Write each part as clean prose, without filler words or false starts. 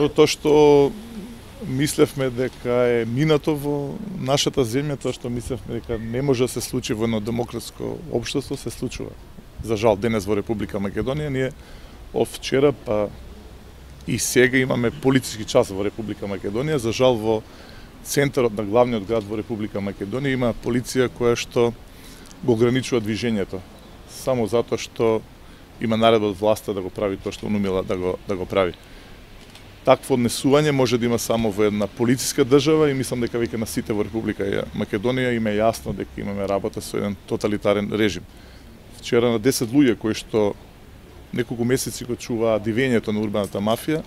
Прво тоа што мислевме дека е минато во нашата земја, тоа што мислевме дека не може да се случи во едно демократско општество, се случува. За жал денес во Република Македонија ние од вчера па и сега имаме полициски час во Република Македонија. За жал во центарот на главниот град во Република Македонија има полиција која што го ограничува движењето само затоа што има наредба од власта да го прави тоа што унумила да го прави. Такво однесување може да има само во една полициска држава и мислам дека веќе на сите во Република Македонија им е јасно дека имаме работа со еден тоталитарен режим. Вчера на 10 луѓе кои што неколку месеци го чуваа дивењето на урбаната мафија,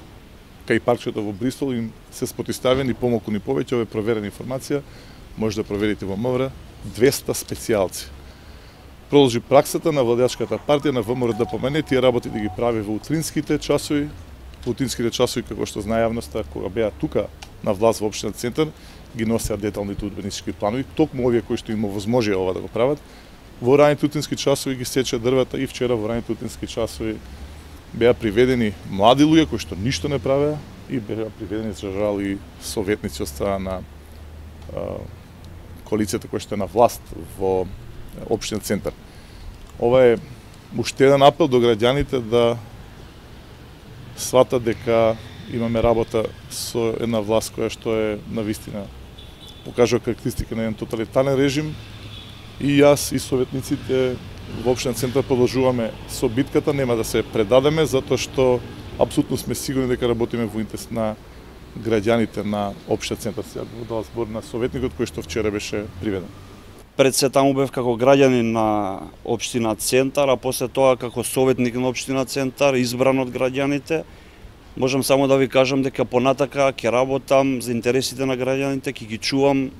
кај паркчето во Бристол им се спотиставени помалку ни повеќе, ова е проверена информација, може да проверите во МВР, 200 специјалци. Продолжи праксата на владеачката партија на ВМРО да помене тие работи да ги прави во утринските часови, како што знае јавноста, кога беа тука на власт во општина Центар, ги носеа деталните урбанистички планови, токму овие кои што им овозможија ова да го прават. Во раните утрински часови ги сече дрвата и вчера во раните утрински часови беа приведени млади луѓе кои што ништо не правеа и беа приведени за жал и советници од страна на коалицијата која што е на власт во општина Центар. Ова е уште еден апел до граѓаните да сватат дека имаме работа со една власт која што е навистина покажува карактеристика на еден тоталитарен режим. И јас и советниците во општина Центар продолжуваме со битката, нема да се предадеме, затоа што апсолутно сме сигурни дека работиме во интерес на граѓаните на општина Центар. Сега го дава збор на советникот кој што вчера беше приведен. Пред се таму бев како граѓанин на општина Центар, а после тоа како советник на општина Центар, избран од граѓаните. Можам само да ви кажам дека понатака ќе работам за интересите на граѓаните, ќе ги чувам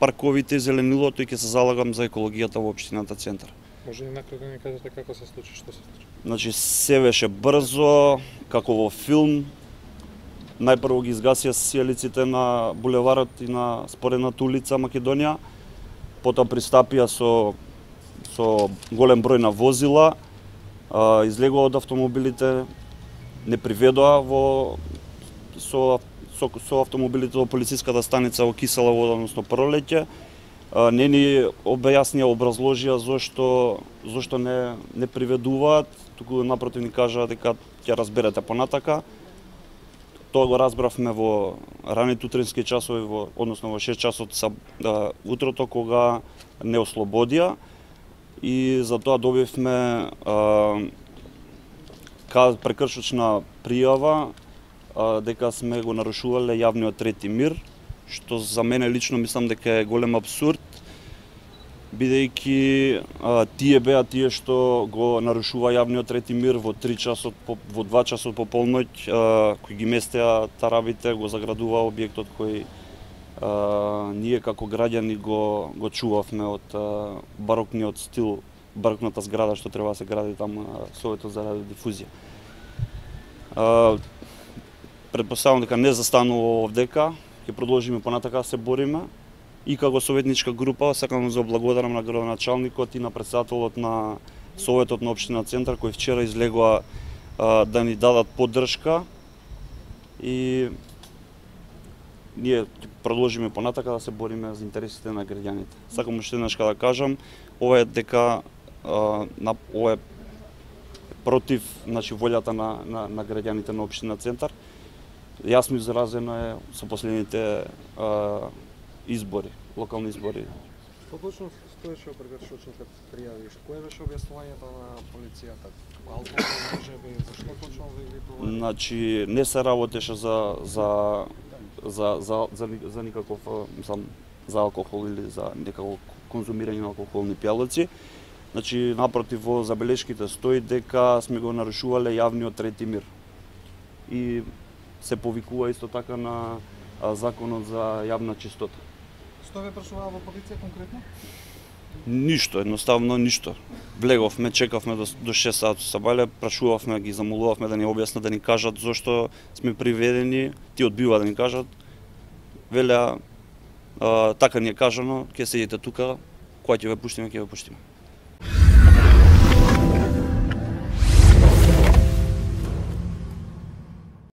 парковите и зеленилото и ќе се залагам за екологијата во општината Центар. Може ли накратко да ни кажете како се случи, што се случи? Значи се беше брзо, како во филм. Најпрво ги изгасија сијалиците на булеварот и на споредната улица Македонија. Потоа пристапија со голем број на возила, излегува од автомобилите, не приведоа со автомобилите во полициската станица во Кисела вода, односно Пролеќе. Не ни објаснија, образложија зошто не приведуваат, туку напротив ни кажаа дека ќе разберете понатака. Тоа го разбравме во раните утрински часови, односно во 6 часот утрото, кога не ослободија и затоа добивме прекршочна пријава дека сме го нарушувале јавниот трети мир, што за мене лично мислам дека е голем абсурд, бидејќи тие беа тие што го нарушува јавниот трети мир во 2 часот по полноќ, кои ги местеа тарабите, го заградува објектот кој ние како граѓани го чувавме од барокниот стил, барокната зграда што треба да се гради таму на Советот за радиодифузија. Предпоставувам дека не застанува овдека, ќе продолжиме понатака да се бориме. И како советничка група сакам да благодарам на градоначалникот и на претседателот на Советот на општина Центар кои вчера излегоа да ни дадат поддршка и ние продолжиме понатака да се бориме за интересите на граѓаните. Сакам уште еднаш да кажам, ова е дека ова е против волјата на граѓаните на општина Центар. Јасно изразено е со последните избори, локални избори. Што точно стоеше во прекршочните пријави? Кое беше објаснувањето на полицијата? Алкохол можеби, зашто точно ви тоа? Значи не се работеше за никаков, мислам, за алкохол или за некако конзумирање на алкохолни пијалаци. Значи напротив во забелешките стои дека сме го нарушувале јавниот трети мир. И се повикува исто така на законот за јавна чистота. Што ве прашуваа во полиција конкретно? Ништо, едноставно ништо. Влеговме, чекавме до 6 саат сабале, прашувавме, ги замолувавме да ни објаснат, да ни кажат зошто сме приведени, ти одбива да ни кажат. Велеа, така ни е кажано, ќе седите тука, кога ќе ве пуштиме, ќе ве пуштиме.